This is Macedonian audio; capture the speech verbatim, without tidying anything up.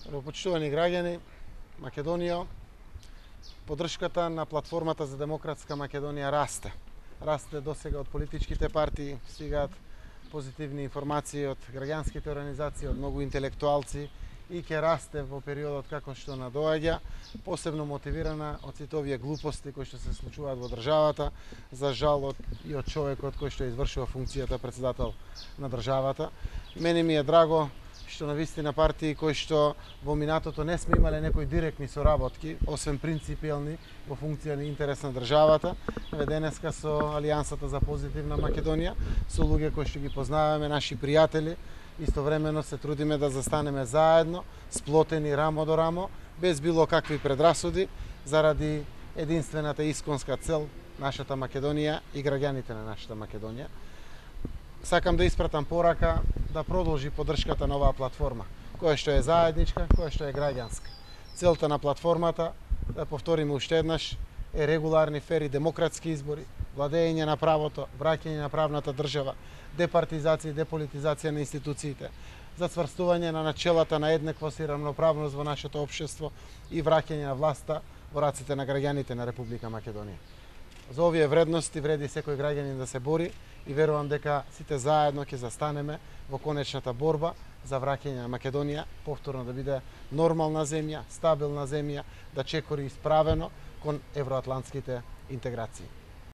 Почитувани граѓани, Македонија, поддршката на платформата за демократска Македонија расте. Расте досега од политичките партии, стигаат позитивни информации од граѓанските организации, од многу интелектуалци и ќе расте во периодот како што надоаѓа, посебно мотивирана од сите овие глупости кои што се случуваат во државата, за жал и од човекот кој што извршува функцијата председател на државата. Мене ми е драго што навистина партии кои што во минатото не сме имале некои директни соработки, освен принципиелни во функција на интерес на државата. Денеска со Алијансата за позитивна Македонија, со луѓе кои што ги познаваме, наши пријатели, истовремено се трудиме да застанеме заедно, сплотени рамо до рамо, без било какви предрасуди, заради единствената исконска цел нашата Македонија и граѓаните на нашата Македонија. Сакам да испратам порака да продолжи поддршката на оваа платформа, која што е заедничка, која што е граѓанска. Целта на платформата, да повториме уште еднаш, е регуларни, фери, демократски избори, владење на правото, враќање на правната држава, департизација и деполитизација на институциите, зацврстување на начелата на еднаквост и рамноправност во нашето општество и враќање на власта во раците на граѓаните на Република Македонија. За овие вредности вреди секој граѓанин да се бори и верувам дека сите заедно ќе застанеме во конечната борба за враќање на Македонија повторно да биде нормална земја, стабилна земја, да чекори исправено кон евроатлантските интеграции.